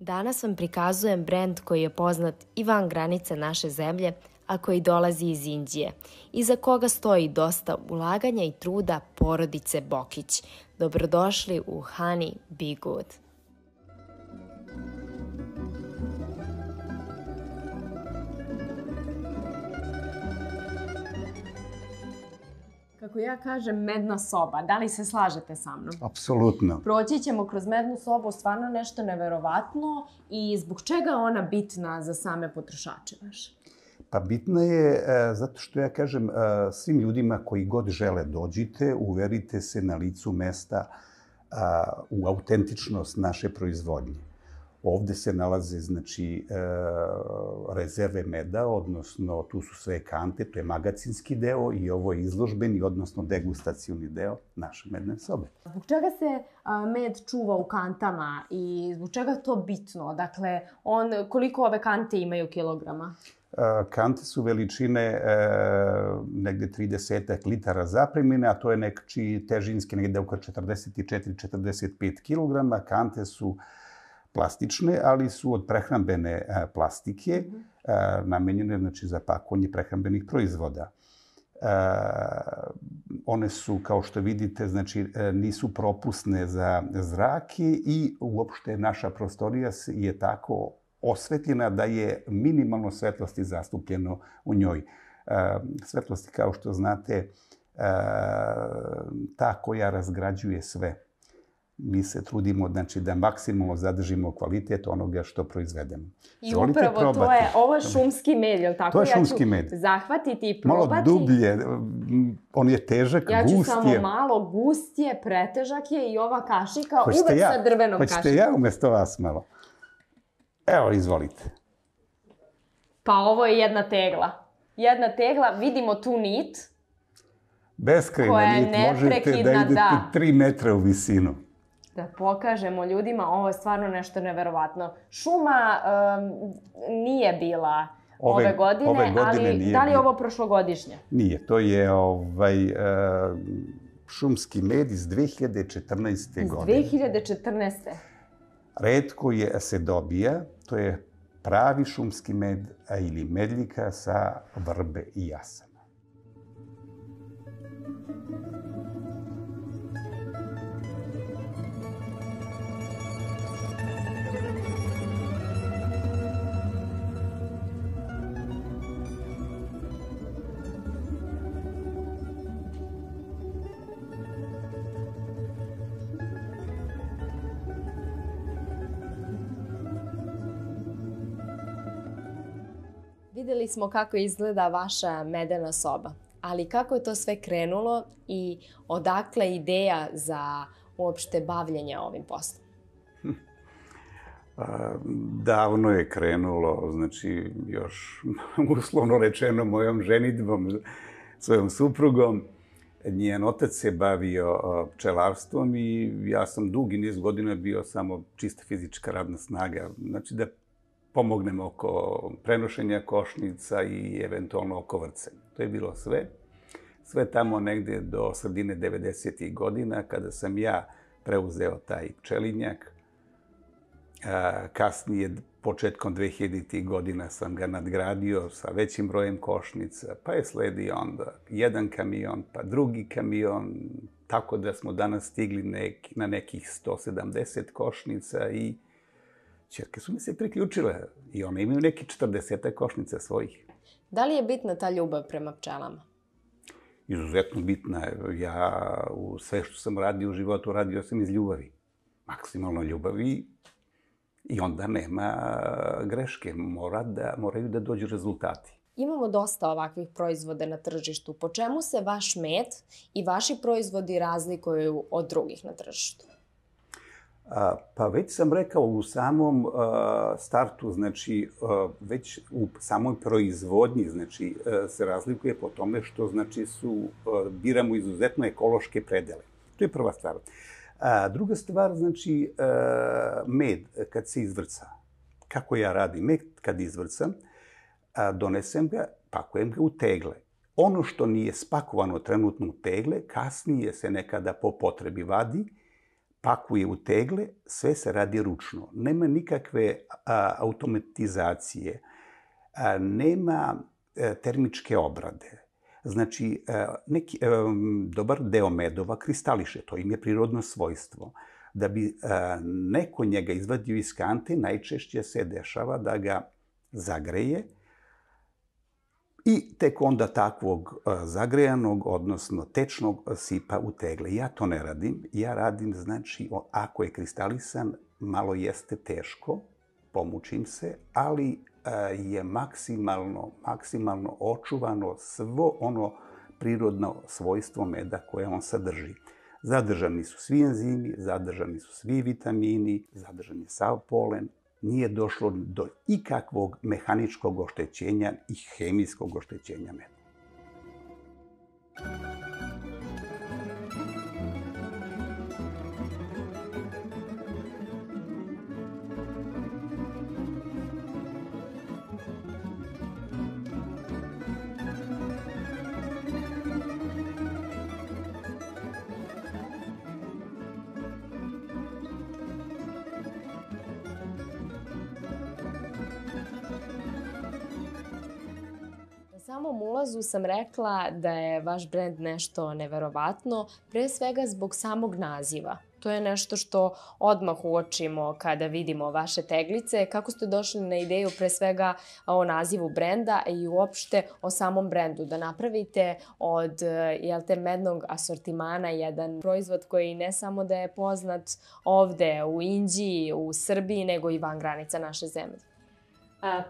Danas vam prikazujem brend koji je poznat i van granice naše zemlje, a koji dolazi iz Indije, iza koga stoji dosta ulaganja i truda porodice Bokić. Dobrodošli u Honey Be Good. Kako ja kažem, medna soba. Da li se slažete sa mnom? Apsolutno. Proći ćemo kroz mednu sobu, stvarno nešto neverovatno. I zbog čega je ona bitna za same potrošače vaše? Pa bitna je zato što ja kažem svim ljudima koji god žele dođite, uverite se na licu mesta u autentičnost naše proizvodnje. Ovde se nalaze, rezerve meda, odnosno tu su sve kante, to je magacinski deo i ovo je izložbeni, odnosno degustacioni deo naše medne sobe. Zbog čega se med čuva u kantama i zbog čega je to bitno? Dakle, koliko ove kante imaju kilograma? Kante su veličine negde 30 litara zapremine, a to je neki težinski negde oko 44-45 kilograma. Kante su plastične, ali su od prehrambene plastike, namenjene za pakovanje prehrambenih proizvoda. One su, kao što vidite, nisu propusne za zrak i uopšte naša prostorija je tako osvetljena da je minimalno svetlosti zastupljeno u njoj. Svetlosti, kao što znate, ta koja razgrađuje sve. Mi se trudimo da maksimalno zadržimo kvalitet onoga što proizvedemo. I upravo ovo je šumski med, je li tako? To je šumski med. Ja ću zahvatiti i probati. Malo dublje, on je težak, gust je. Ja ću samo malo, gust je, pretežak je i ova kašika uvek sa drvenom kašikom. Hoćete ja umesto vas malo? Evo, izvolite. Pa ovo je jedna tegla. Jedna tegla, vidimo tu nit. Beskrajna nit, možete da idete 3 metra u visinu. Da pokažemo ljudima, ovo je stvarno nešto neverovatno. Šuma nije bila ove godine, ali da li je ovo prošlogodišnje? Nije, to je šumski med iz 2014. godine. Iz 2014. Retko se dobija, to je pravi šumski med ili medljika sa vrbe i jasana. Videli smo kako izgleda vaša medena soba, ali kako je to sve krenulo i odakle ideja za uopšte bavljenje ovim poslom? Davno je krenulo, još uslovno rečeno mojom ženidbom, svojom suprugom. Njen otac se bavio pčelarstvom i ja sam dugi niz godina bio samo čista fizička radna snaga. Da pomognem oko prenošenja košnica i eventualno oko vrcenja. To je bilo sve. Sve tamo negde do sredine 90. godina, kada sam ja preuzeo taj pčelinjak. Kasnije, početkom 2000. godina sam ga nadgradio sa većim brojem košnica, pa je sledio onda jedan kamion, pa drugi kamion, tako da smo danas stigli na nekih 170 košnica i ćerke su mi se priključile i one imaju neki 40 košnica svojih. Da li je bitna ta ljubav prema pčelama? Izuzetno bitna. Ja u sve što sam radio u životu, radio sam iz ljubavi. Maksimalno ljubavi i onda nema greške. Moraju da dođu rezultati. Imamo dosta ovakvih proizvoda na tržištu. Po čemu se vaš med i vaši proizvodi razlikuju od drugih na tržištu? Pa već sam rekao u samom startu, već u samoj proizvodnji se razlikuje po tome što biramo izuzetno ekološke predele. To je prva stvar. Druga stvar, med kad se izvrca. Kako ja radim med kad izvrcam, donesem ga, pakujem ga u tegle. Ono što nije spakovano trenutno u tegle, kasnije se nekada po potrebi vadi, pakuje u tegle, sve se radi ručno. Nema nikakve automatizacije, nema termičke obrade. Znači, dobar deo medova kristališe, to im je prirodno svojstvo. Da bi neko njega izvadio iz kante, najčešće se dešava da ga zagreje i tek onda takvog zagrejanog, odnosno tečnog, sipa u tegle. Ja to ne radim. Ja radim, znači, ako je kristalisan, malo jeste teško, pomučim se, ali je maksimalno očuvano svo ono prirodno svojstvo meda koje on sadrži. Zadržani su svi enzimi, zadržani su svi vitamini, zadržan je sav polen. Nije došlo do ikakvog mehaničkog oštećenja i hemijskog oštećenja meda. Na samom ulazu sam rekla da je vaš brend nešto neverovatno, pre svega zbog samog naziva. To je nešto što odmah uočimo kada vidimo vaše teglice. Kako ste došli na ideju pre svega o nazivu brenda i uopšte o samom brendu? Da napravite od mednog asortimana jedan proizvod koji ne samo da je poznat ovde u Inđiji, u Srbiji, nego i van granica naše zemlje.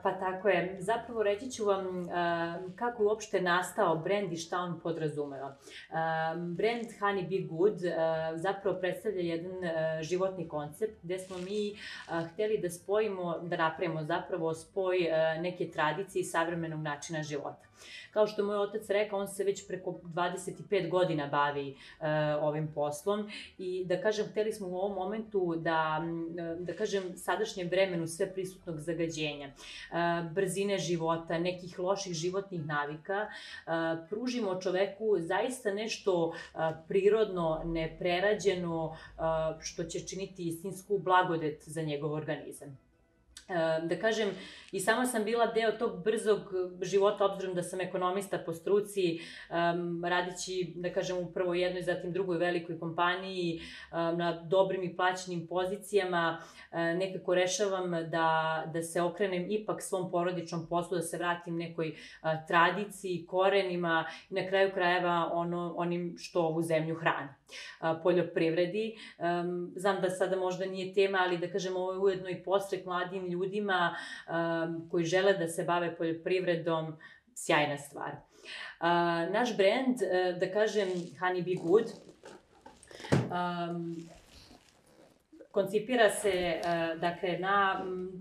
Pa tako je. Zapravo reći ću vam kako je uopšte nastao brend i šta on podrazumeva. Brend Honey Be Good zapravo predstavlja jedan životni koncept gde smo mi hteli da spojimo, da napravimo zapravo spoj neke tradicije i savremenog načina života. Kao što je moj otac rekao, on se već preko 25 godina bavi ovim poslom i da kažem, hteli smo u ovom momentu da kažem, sadašnjem vremenu sve prisutnog zagađenja, brzine života, nekih loših životnih navika, pružimo čoveku zaista nešto prirodno, neprerađeno, što će činiti istinsku blagodet za njegov organizam. Da kažem, i sama sam bila deo tog brzog života, obzirom da sam ekonomista po struci, radići, da kažem, u prvo jednoj, zatim drugoj velikoj kompaniji, na dobrim i plaćenim pozicijama, nekako rešavam da se okrenem ipak svom porodičnom poslu, da se vratim nekoj tradiciji, korenima i na kraju krajeva onim što ovu zemlju hrani. Poljoprivredi. Znam da sada možda nije tema, ali da kažem, ovo je ujedno i podstrek mladim ljudima koji žele da se bave poljoprivredom, sjajna stvar. Naš brend, da kažem, Honey Be Good, koncipira se dakle,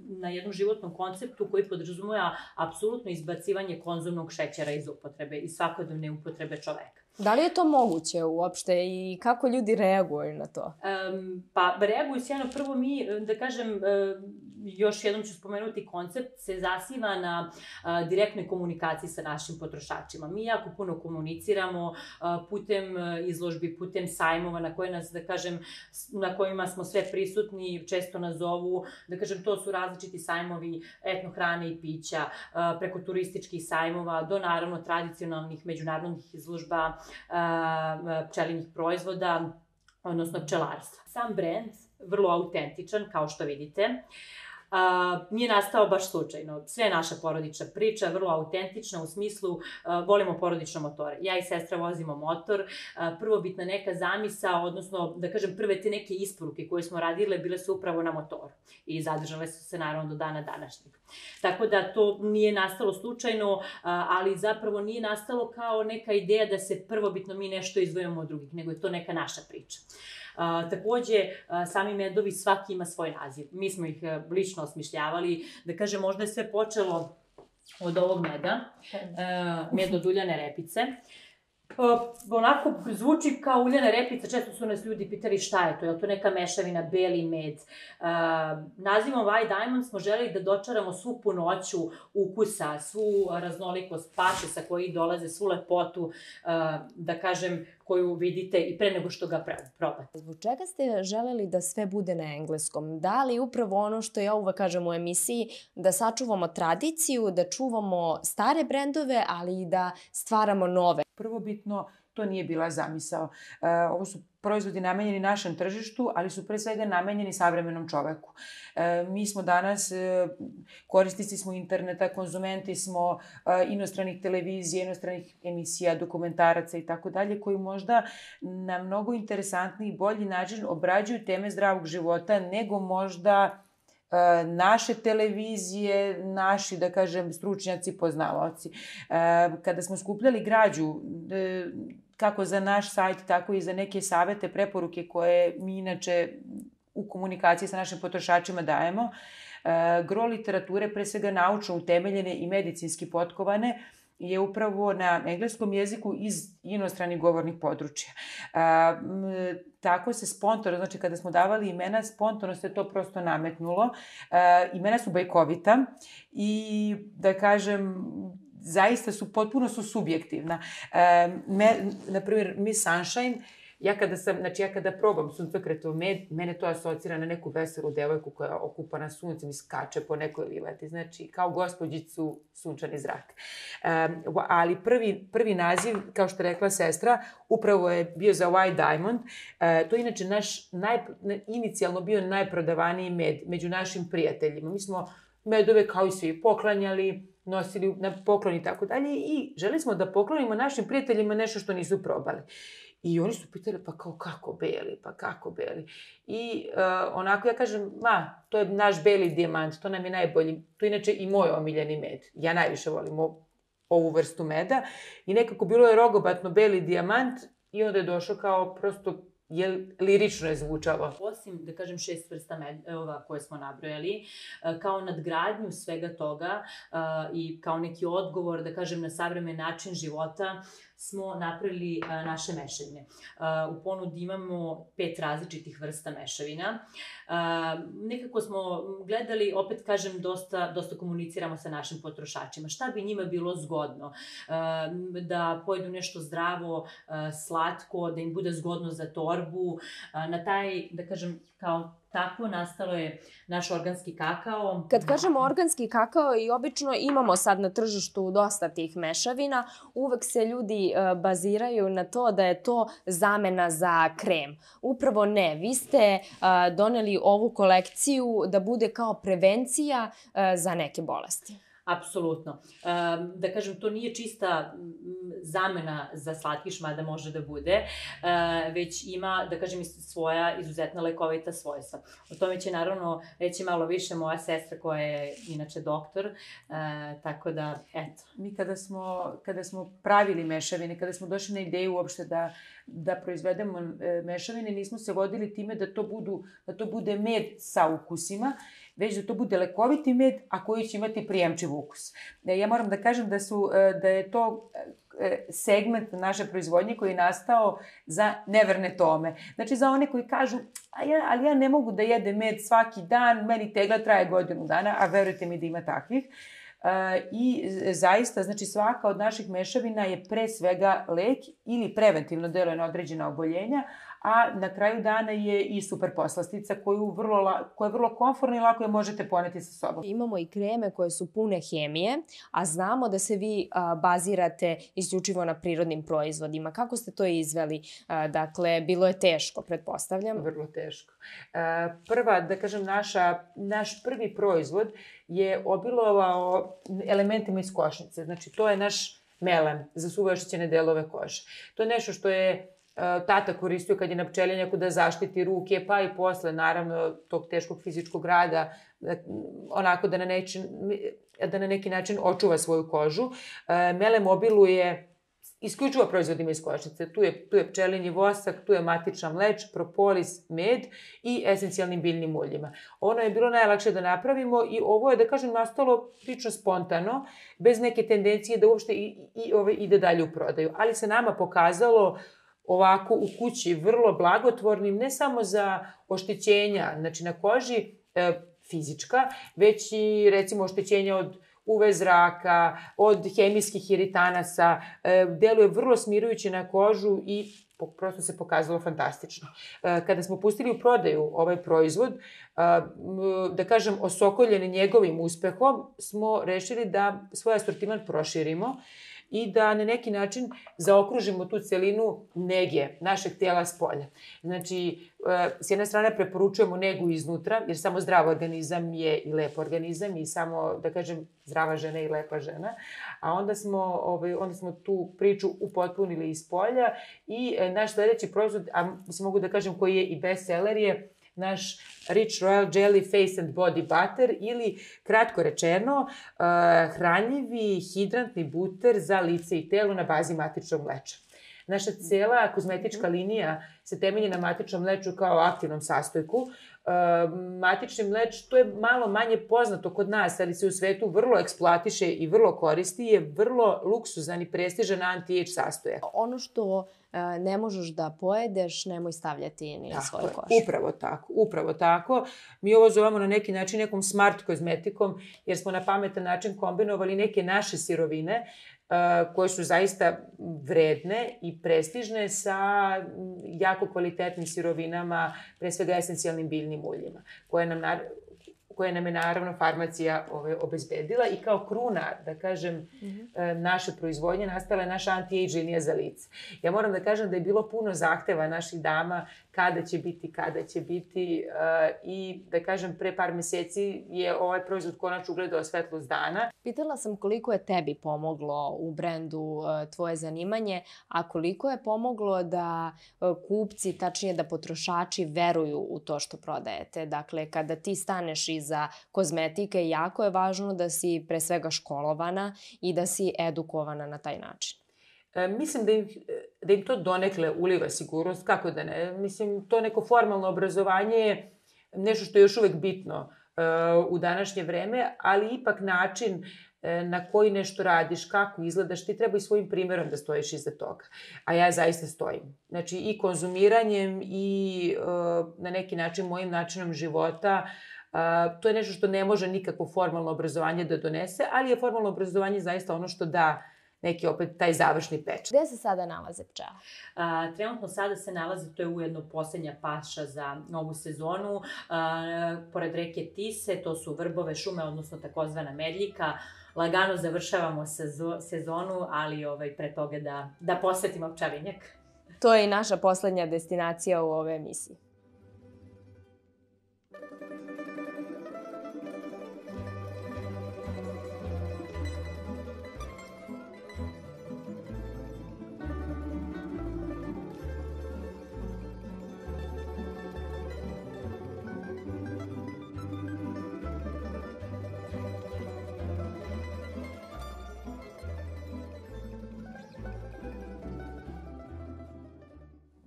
na jednom životnom konceptu koji podrazumeva apsolutno izbacivanje konzumnog šećera iz upotrebe i svakodnevne upotrebe čoveka. Da li je to moguće uopšte i kako ljudi reaguju na to? Pa reaguju sjajno. Prvo mi, da kažem, još jednom ću spomenuti, koncept se zasniva na direktnoj komunikaciji sa našim potrošačima. Mi jako puno komuniciramo putem izložbi, putem sajmova na koje nas, da kažem, na kojima smo sve prisutni, često nas zovu, da kažem, to su različiti sajmovi etnohrane i pića, preko turističkih sajmova do naravno tradicionalnih međunarodnih izložba pčelinjih proizvoda, odnosno pčelarstva. Sam brend, vrlo autentičan, kao što vidite, nije nastao baš slučajno. Sve je naša porodična priča, vrlo autentična u smislu volimo porodične motore. Ja i sestra vozimo motor. Prvobitna neka zamisa, odnosno da kažem prve te neke isporuke koje smo radile bile su upravo na motoru i zadržale su se naravno do dana današnjeg. Tako da to nije nastalo slučajno, ali zapravo nije nastalo kao neka ideja da se prvobitno mi nešto izdvojimo od drugih, nego je to neka naša priča. Takođe, sami medovi svaki ima svoj naziv. Mi smo ih lično osmišljavali. Da kažem, možda je sve počelo od ovog meda, med od uljane repice. Onako zvuči kao uljana repica, često su nas ljudi pitali šta je to, je li to neka mešavina, beli med. Nazivom White Diamond smo želeli da dočaramo svu punoću ukusa, svu raznolikost paše sa koji dolaze, svu lepotu, da kažem, koju vidite i pre nego što ga probate. Zbog čega ste želeli da sve bude na engleskom? Da li upravo ono što ja uvek kažem u emisiji, da sačuvamo tradiciju, da čuvamo stare brendove, ali i da stvaramo nove? Prvobitno to nije bila zamisao. Ovo su proizvodi namenjeni našem tržištu, ali su pre svega namenjeni savremenom čoveku. Mi smo danas, korisnici smo interneta, konzumenti smo inostranih televizija, inostranih emisija, dokumentaraca i tako dalje, koji možda na mnogo interesantniji i bolji način obrađuju teme zdravog života nego možda naše televizije, naši, da kažem, stručnjaci, poznavaoci. Kada smo skupljali građu, kako za naš sajt, tako i za neke savete, preporuke koje mi inače u komunikaciji sa našim potrošačima dajemo, gro literature, pre svega naučno utemeljene i medicinski potkovane, je upravo na engleskom jeziku iz inostranih govornih područja. Tako se spontano, znači kada smo davali imena, spontano se to prosto nametnulo. Imena su bajkovita i, da kažem, zaista su, potpuno su subjektivna. Naprimjer, Miss Sunshine, ja kada probam suncokretov med, mene to asocira na neku veselu devojku koja je okupana suncem i skače po nekoj livadi. Znači, kao gospođicu sunčani zrak. Ali prvi naziv, kao što je rekla sestra, upravo je bio za White Diamond. To je inače naš inicijalno bio najprodavaniji med među našim prijateljima. Mi smo medove kao i svi poklanjali, nosili na poklon i tako dalje i želi smo da poklonimo našim prijateljima nešto što nisu probali. I oni su pitali, pa kao kako beli? I onako ja kažem, to je naš beli dijamant, to nam je najbolji. To je inače i moj omiljeni med. Ja najviše volim ovu vrstu meda. I nekako bilo je rogobatno beli dijamant i onda je došao kao prosto lirično je zvučalo. Osim, da kažem, 6 vrsta medova koje smo nabrojali, kao nadgradnju svega toga i kao neki odgovor, da kažem, na savremen način života, smo napravili naše mešavine. U ponudi imamo 5 različitih vrsta mešavina. Nekako smo gledali, opet kažem, dosta komuniciramo sa našim potrošačima. Šta bi njima bilo zgodno? Da pojedu nešto zdravo, slatko, da im bude zgodno za torbu. Na taj, da kažem, kao tako nastalo je naš organski kakao. Kad kažemo organski kakao, i obično imamo sad na tržištu dosta tih mešavina, uvek se ljudi baziraju na to da je to zamena za krem. Upravo ne. Vi ste doneli ovu kolekciju da bude kao prevencija za neke bolesti. Apsolutno. Da kažem, to nije čista zamena za slatkiš, mada može da bude, već ima, da kažem, svoja izuzetna lekovita svojstva. O tome će naravno reći malo više moja sestra koja je inače doktor, tako da, eto. Mi kada smo pravili mešavine, kada smo došli na ideju uopšte da proizvedemo mešavine, nismo se vodili time da to bude med sa ukusima, već da to bude lekoviti med, a koji će imati prijemčiv ukus. Ja moram da kažem da je to segment naše proizvodnje koji je nastao za neverne Tome. Znači za one koji kažu, ali ja ne mogu da jedem med svaki dan, meni tegla traje godinu dana, a verujte mi da ima takvih. I zaista, znači svaka od naših mešavina je pre svega lek ili preventivno deluje na određena oboljenja, a na kraju dana je i super poslastica koja je vrlo komfortna i lako je možete poneti sa sobom. Imamo i kreme koje su pune hemije, a znamo da se vi bazirate isključivo na prirodnim proizvodima. Kako ste to izveli? Dakle, bilo je teško, pretpostavljam. Vrlo teško. Da kažem, naš prvi proizvod je obilovao elementima iz košnice. Znači, to je naš melem za suve oštećene delove kože. To je nešto što je tata koristio kad je na pčelinjaku da zaštiti ruke, pa i posle, naravno, tog teškog fizičkog rada, onako da na neki način očuva svoju kožu. Melem obiluje isključivo proizvodima iz košnice. Tu je pčelinji vosak, tu je matična mleč, propolis, med i esencijalnim biljnim uljima. Ono je bilo najlakše da napravimo i ovo je, da kažem, nastalo prilično spontano, bez neke tendencije da uopšte ide dalje u prodaju. Ali se nama pokazalo ovako u kući vrlo blagotvornim, ne samo za oštećenja, znači na koži fizička, već i recimo oštećenja od UV zraka, od hemijskih iritanasa, deluje vrlo smirujuće na kožu i prosto se pokazalo fantastično. Kada smo pustili u prodaju ovaj proizvod, da kažem, osokoljeni njegovim uspehom, smo rešili da svoj asortiman proširimo i da na neki način zaokružimo tu celinu nege našeg tela s polja. Znači, s jedne strane preporučujemo negu iznutra, jer samo zdrav organizam je i lep organizam i samo, da kažem, zdrava žena i lepa žena. A onda smo tu priču upotpunili iz polja i naš sledeći proizvod, a mogu da kažem koji je i bestseller, je naš Rich Royal Jelly Face and Body Butter ili, kratko rečeno, hranljivi hidrantni buter za lice i telo na bazi matičnog mleča. Naša cela kozmetička linija se temelji na matičnom mleču kao aktivnom sastojku. Matični mleč, to je malo manje poznato kod nas, ali se u svetu vrlo eksploatiše i vrlo koristi, je vrlo luksuzan i prestižan anti-age sastojak. Ono što ne možeš da pojedeš, nemoj stavljati ni na svoju kožu. Upravo tako. Mi ovo zovemo na neki način nekom smart kozmetikom, jer smo na pametan način kombinovali neke naše sirovine koje su zaista vredne i prestižne sa jako kvalitetnim sirovinama, pre svega esencijalnim biljnim uljima, koje nam je naravno farmacija obezbedila i kao kruna, da kažem, naše proizvodnje nastala je naša anti-age linija za lice. Ja moram da kažem da je bilo puno zahteva naših dama kada će biti i da kažem pre par meseci je ovaj proizvod konačno ugledao svetlost dana. Pitala sam koliko je tebi pomoglo u brendu tvoje zanimanje, a koliko je pomoglo da kupci, tačnije da potrošači veruju u to što prodajete. Dakle, kada ti staneš iza kozmetike, jako je važno da si pre svega školovana i da si edukovana na taj način. Mislim da im to donekle uliva sigurnost, kako da ne. Mislim, to neko formalno obrazovanje je nešto što je još uvek bitno u današnje vreme, ali ipak način na koji nešto radiš, kako izgledaš, ti treba i svojim primjerom da stojiš iza toga. A ja zaista stojim. Znači, i konzumiranjem i na neki način mojim načinom života, to je nešto što ne može nikakvo formalno obrazovanje da donese, ali je formalno obrazovanje zaista ono što da neki opet taj završni pečat. Gde se sada nalaze pčele? Trenutno sada se nalaze, to je ujedno poslednja paša za novu sezonu, pored reke Tise, to su vrbove šume, odnosno takozvana medljika. Lagano završavamo sezonu, ali pre toga da posetimo pčelinjak. To je i naša poslednja destinacija u ovoj emisiji.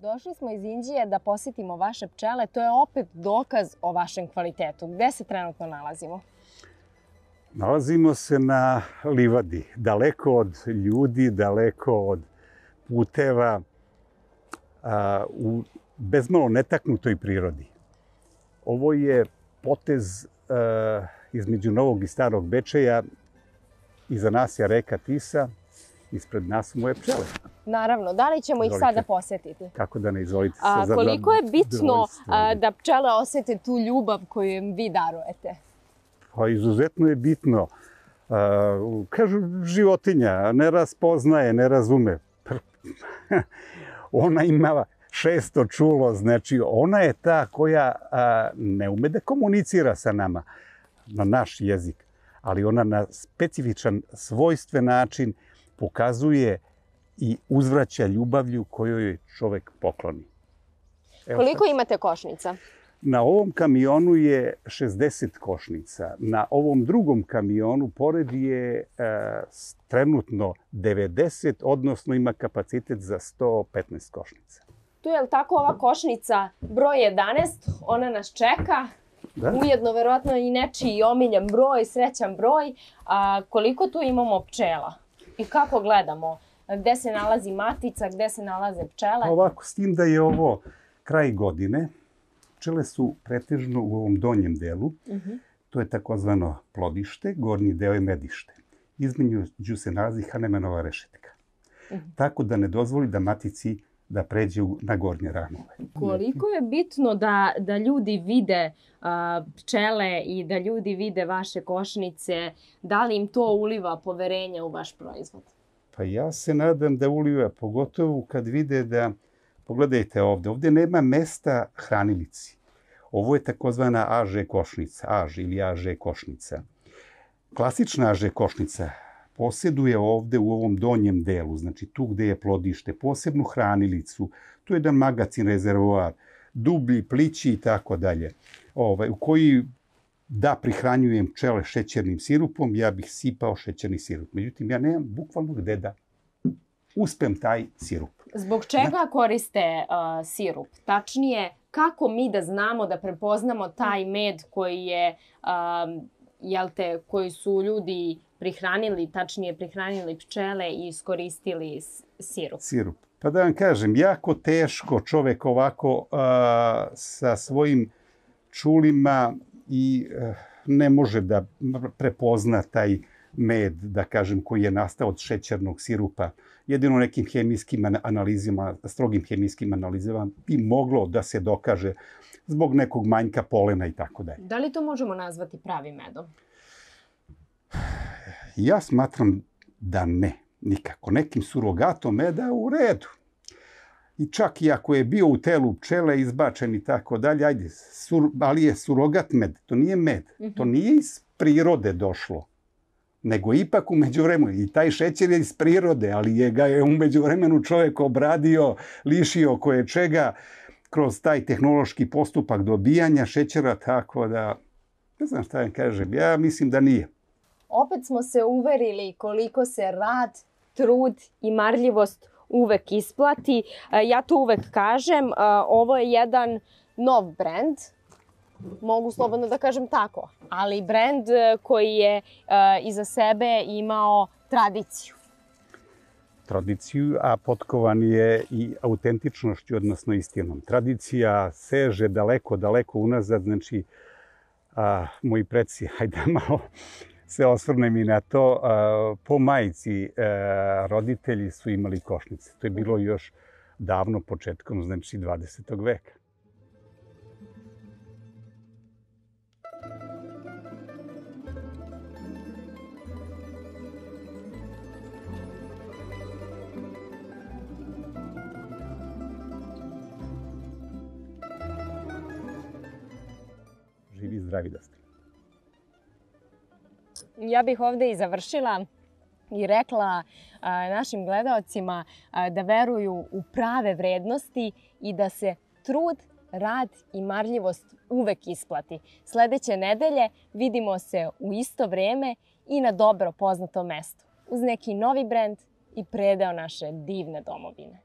Došli smo iz Inđije da posetimo vaše pčele. To je opet dokaz o vašem kvalitetu. Gde se trenutno nalazimo? Nalazimo se na livadi, daleko od ljudi, daleko od puteva, u bezmalo netaknutoj prirodi. Ovo je potez između Novog i Starog Bečeja. Iza nas je reka Tisa, ispred nas su moje pčele. Naravno, da li ćemo ih sada posetiti? Kako da ne, izvolite. Koliko je bitno da pčele osete tu ljubav koju im vi darujete? Pa izuzetno je bitno. Kažu, životinja ne raspoznaje, ne razume. Ona ima 600 čulo, znači ona je ta koja ne ume da komunicira sa nama na naš jezik, ali ona na specifičan, svojstven način pokazuje i uzvraća ljubavlju koju joj čovek pokloni. Koliko imate košnica? Na ovom kamionu je 60 košnica. Na ovom drugom kamionu pored je trenutno 90, odnosno ima kapacitet za 115 košnica. Tu je li tako ova košnica broj 11, ona nas čeka. Ujedno, verovatno i nečiji omiljen broj, srećan broj. Koliko tu imamo pčela? I kako gledamo? Gde se nalazi matica, gde se nalaze pčele? Ovako, s tim da je ovo kraj godine, pčele su pretežno u ovom donjem delu. To je takozvano plodište, gornji deo je medište. Između se nalazi Hanemanova rešetka. Tako da ne dozvoli da matici da pređe na gornje ranove. Koliko je bitno da ljudi vide pčele i da ljudi vide vaše košnice, da li im to uliva poverenje u vaš proizvod? Pa ja se nadam da uliva, pogotovo kad vide da, pogledajte ovde nema mesta hranilici. Ovo je takozvana AŽ košnica, AŽ ili AŽ košnica. Klasična AŽ košnica posjeduje ovde u ovom donjem delu, znači tu gde je plodište, posebnu hranilicu, tu je jedan magacin, rezervoar, dublji, plići i tako dalje, u koji da prihranjujem pčele šećernim sirupom, ja bih sipao šećerni sirup. Međutim, ja nemam bukvalno gde da uspem taj sirup. Zbog čega koriste sirup? Tačnije, kako mi da znamo da prepoznamo taj med koji je, koji su ljudi prihranili, tačnije prihranili pčele i iskoristili sirup? Sirup. Pa da vam kažem, jako teško čovek ovako sa svojim čulima i ne može da prepozna taj med, da kažem, koji je nastao od šećernog sirupa. Jedino nekim hemijskim analizama, strogim hemijskim analizama bi moglo da se dokaže zbog nekog manjka polena i tako dalje. Da li to možemo nazvati pravim medom? Ja smatram da ne, nikako. Nekim surogatom meda u redu. I čak i ako je bio u telu pčele izbačen i tako dalje, ajde, ali je surogat med, to nije med. To nije iz prirode došlo, nego ipak u međuvremenu. I taj šećer je iz prirode, ali ga je u međuvremenu čovjek obradio, lišio koje čega kroz taj tehnološki postupak dobijanja šećera, tako da, ne znam šta vam kažem, ja mislim da nije. Opet smo se uverili koliko se rad, trud i marljivost uvek isplati. Ja to uvek kažem, ovo je jedan nov brend, mogu slobodno da kažem tako, ali brend koji je iza sebe imao tradiciju. Tradiciju, a potkovan je i autentičnošću, odnosno istinom. Tradicija seže daleko, daleko unazad, znači moji preci, hajde malo se osvrnem i na to, po majici roditelji su imali košnice. To je bilo još davno, početkom, znači 20. veka. Živi i zdravi da ste. Ja bih ovde i završila i rekla našim gledaocima da veruju u prave vrednosti i da se trud, rad i marljivost uvek isplati. Sledeće nedelje vidimo se u isto vreme i na dobro poznatom mestu uz neki novi brend i predeo naše divne domovine.